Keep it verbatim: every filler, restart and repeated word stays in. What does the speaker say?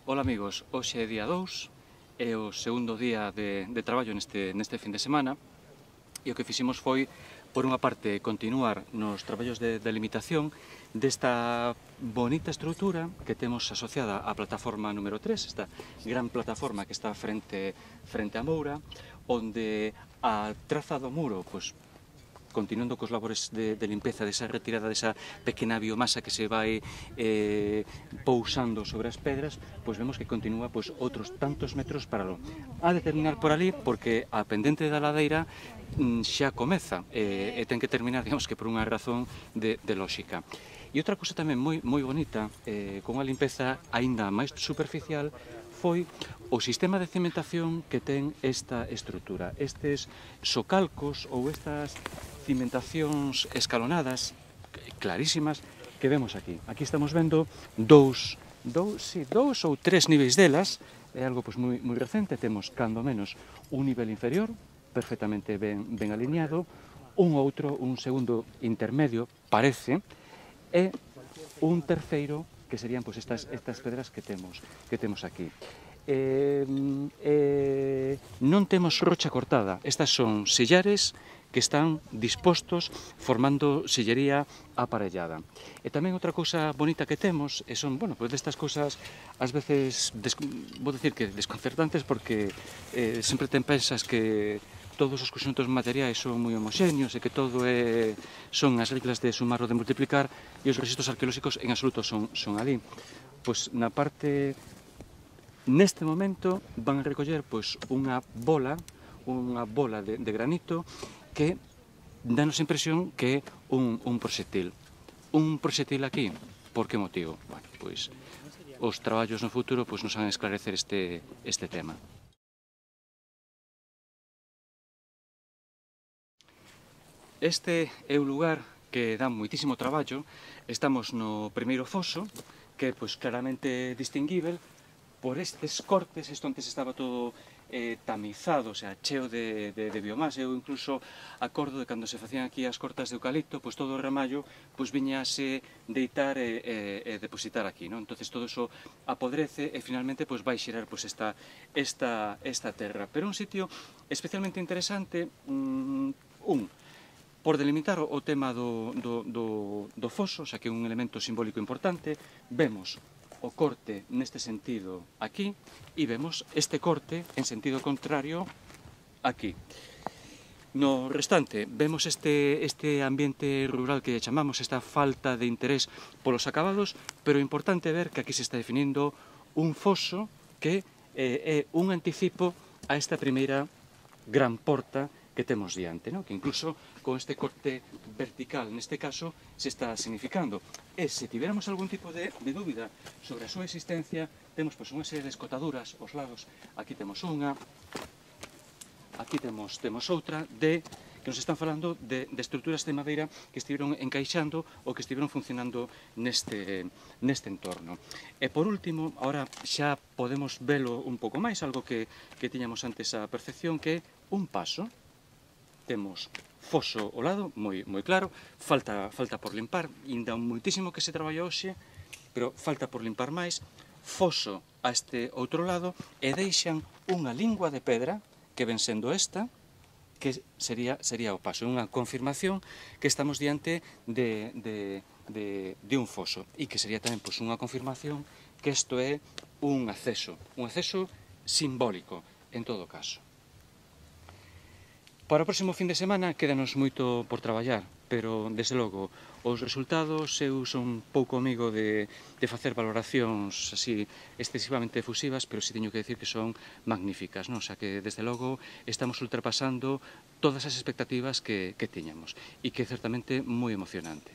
Ola amigos, hoxe é día dous, é o segundo día de, de traballo neste, neste fin de semana e o que fixemos foi, por unha parte, continuar nos traballos de delimitación desta bonita estrutura que temos asociada á plataforma número tres, esta gran plataforma que está frente, frente a Moura, onde a traza do muro, pois, continuando cos labores de, de limpeza desa retirada desa pequena biomasa que se vai eh, pousando sobre as pedras, pois vemos que continúa pois, outros tantos metros para lo. A de terminar por ali, porque a pendente da ladeira mm, xa comeza eh, e ten que terminar, digamos que por unha razón de, de lógica. E outra cousa tamén moi, moi bonita, eh, con a limpeza aínda máis superficial, foi o sistema de cimentación que ten esta estrutura. Estes socalcos ou estas cimentacións escalonadas, clarísimas, que vemos aquí. Aquí estamos vendo dous, dous, sí, dous ou tres niveis delas, é algo pois, moi, moi recente, temos, cando menos, un nivel inferior, perfectamente ben, ben alineado, un outro, un segundo intermedio, parece, e un terceiro, que serían pois, estas, estas pedras que temos, que temos aquí. Eh, eh, non temos rocha cortada, estas son sillares que están dispostos formando sillería aparellada. E tamén outra cousa bonita que temos, e son, bueno, pois destas cousas ás veces, des, vou dicir que desconcertantes, porque eh, sempre te pensas que todos os conxuntos materiais son moi homoxéneos e que todo é, son as reglas de sumar ou de multiplicar e os registros arqueolóxicos en absoluto son, son ali. Pois na parte, neste momento, van a recoller pois, unha bola, unha bola de, de granito que danos a impresión que é un, un proxectil. Un proxectil aquí, por que motivo? Bueno, pois os traballos no futuro pois, nos van a esclarecer este, este tema. Este é un lugar que dá moitísimo traballo. Estamos no primeiro foso, que é pois, claramente distinguível por estes cortes. Isto antes estaba todo eh, tamizado, o sea, cheo de, de, de biomasa. Eu incluso acordo de cando se facían aquí as cortas de eucalipto, pois todo o ramallo pois viñase deitar e, e, e depositar aquí, non? Entonces todo eso apodrece e finalmente pois vai xerar pois esta, esta, esta terra. Pero un sitio especialmente interesante, un, un por delimitar o tema do, do, do, do foso, xa que é un elemento simbólico importante, vemos o corte neste sentido aquí e vemos este corte en sentido contrario aquí. No restante, vemos este, este ambiente rural que chamamos, esta falta de interés polos acabados, pero é importante ver que aquí se está definindo un foso que eh, é un anticipo a esta primeira gran porta que temos diante, ¿no? Que incluso con este corte vertical, neste caso, se está significando. E se tiveramos algún tipo de, de dúbida sobre a súa existencia, temos pois, unha serie de escotaduras aos lados. Aquí temos unha, aquí temos, temos outra, de que nos están falando de, de estruturas de madeira que estiveron encaixando ou que estiveron funcionando neste, neste entorno. E por último, agora xa podemos velo un pouco máis, algo que, que tiñamos antes a percepción, que é un paso. Temos foso ao lado, moi, moi claro, falta, falta por limpar, ainda moitísimo que se traballa hoxe, pero falta por limpar máis, foso a este outro lado, e deixan unha lingua de pedra, que ven sendo esta, que sería, sería o paso, unha confirmación que estamos diante de, de, de, de un foso, e que sería tamén pois, unha confirmación que isto é un acceso, un acceso simbólico, en todo caso. Para o próximo fin de semana quédanos moito por traballar, pero, desde logo, os resultados, eu son pouco amigo de, de facer valoracións así excesivamente efusivas, pero si teño que decir que son magníficas, non? O sea que, desde logo, estamos ultrapasando todas as expectativas que, que tiñamos, e que é certamente moi emocionante.